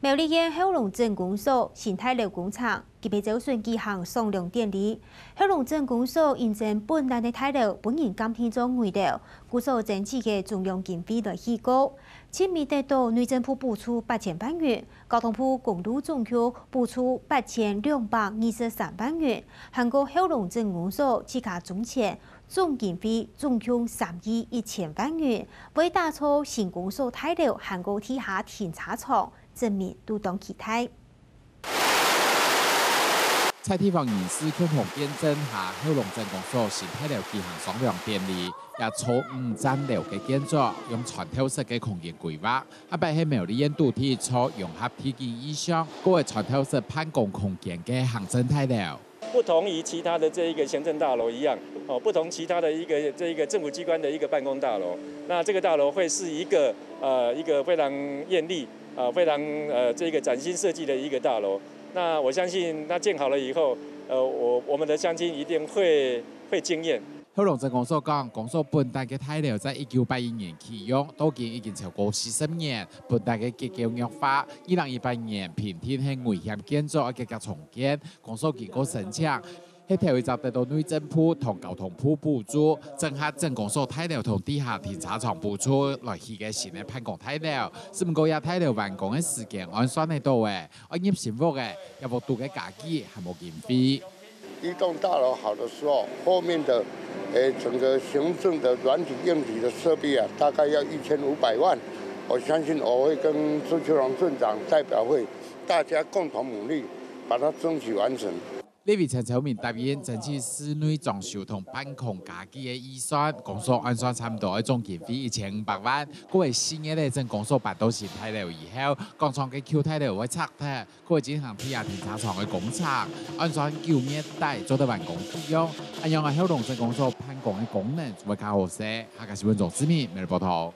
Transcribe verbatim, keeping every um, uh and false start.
苗栗縣后龍鎮公所新大樓工程，今晡日朝晨舉行上樑典禮。后龍鎮公所因爭本來个大樓分人鑑定做危樓，故所爭取个中央經費來起過。七米得到內政部補助八千萬元，交通部公路總局補助八千兩百二十三萬元，還過后龍鎮公所自家出錢，總經費總共三億一千萬元，為打造新公所大樓還過地下停車場， 鎮民都當期待。在地方人士共同見證下，后龍鎮公所新大樓舉行上樑典禮，這座五層樓个建築，用傳統式个空間規劃，下擺係苗栗縣土地做融合體驗意象，過个傳統式辦公空間个行政大樓。 不同於其他的這一個行政大樓一樣，哦，不同其他的一個這一個政府機關的一個辦公大樓，那這個大樓會是一個呃一個非常豔麗啊、非常呃這個嶄新設計的一個大樓。那我相信它建好了以後，呃，我我們的鄉親一定會會驚豔。后龍鎮公所講，公所本來个大樓在一九八一年啟用，到今已經超過四十年，本來个結構弱化，二零一八年評定係危險建築，愛遽遽重建。 公所經過申請，係頭一隻得到內政部同交通部補助，整合鎮公所大樓同地下停車場補助來起个新个辦公大樓。只毋過這大樓完工个時間按算得到个，愛入新屋个，這屋肚个家具還無經費。一棟大樓好的時候，後面的，誒，整個行政的軟體硬體的設備啊，大概要一千五百萬。我相信我會跟朱秋龍鎮長代表會，大家共同努力，把它爭取完成。 立委陳超明答應爭取室內裝修同辦公家具个預算，公所按算差毋多愛總經費一千五百萬。過个四月咧，鎮公所搬到新大樓以後，廣場个舊大樓會拆忒，過進行地下停車場个工程，按算九月底做得完工啟用。恁樣个後龍鎮公所辦公个功能就會較好勢。客家新聞鍾志明，每日報導。